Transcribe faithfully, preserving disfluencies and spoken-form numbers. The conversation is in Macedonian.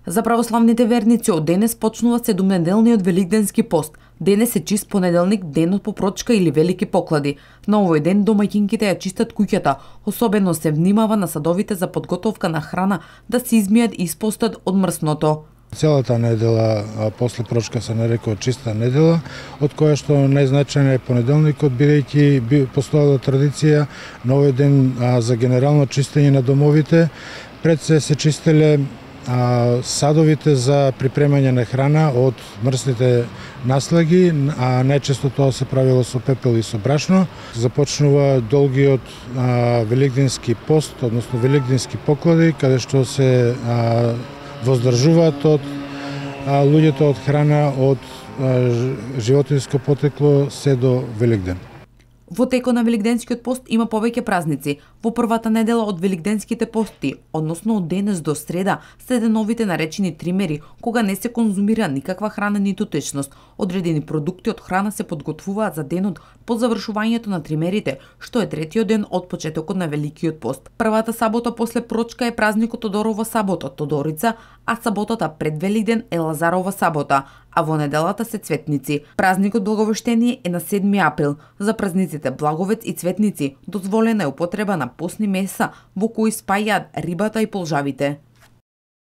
За православните верници од денес почнува седумнеделниот великденски пост. Денес е чист понеделник, денот по прочка или велики поклади. На овој ден домаќинките ја чистат куќата, особено се внимава на садовите за подготовка на храна да се измијат и испостат од мрсното. Целата недела после прочка се нарекува чиста недела, од која што најзначаен е понеделникот, бидејќи постоела традиција на овој ден а, за генерално чистење на домовите. Пред се се чистеле а, садовите за припремање на храна од мрсните наслаги, а најчесто тоа се правило со пепел и со брашно. Започнува долгиот а, великденски пост, односно великденски поклади, каде што се а, воздржуваат од а, луѓето од храна од а, животинско потекло се до Великден. Во текот на великденскиот пост има повеќе празници. Во првата недела од великденските пости, односно од денес до среда, се деновите наречени тримери, кога не се конзумира никаква храна ниту течност. Одредени продукти од храна се подготвуваат за денот по завршувањето на тримерите, што е третиот ден од почетокот на великиот пост. Првата сабота после прочка е празникот Тодорова сабота, Тодорица, а саботата пред Великден е Лазарова сабота, а во неделата се Цветници. Празникот Благовештение е на седми април. За празниците Благовец и Цветници дозволена е употреба на постни меса во кои спајаат рибата и полжавите.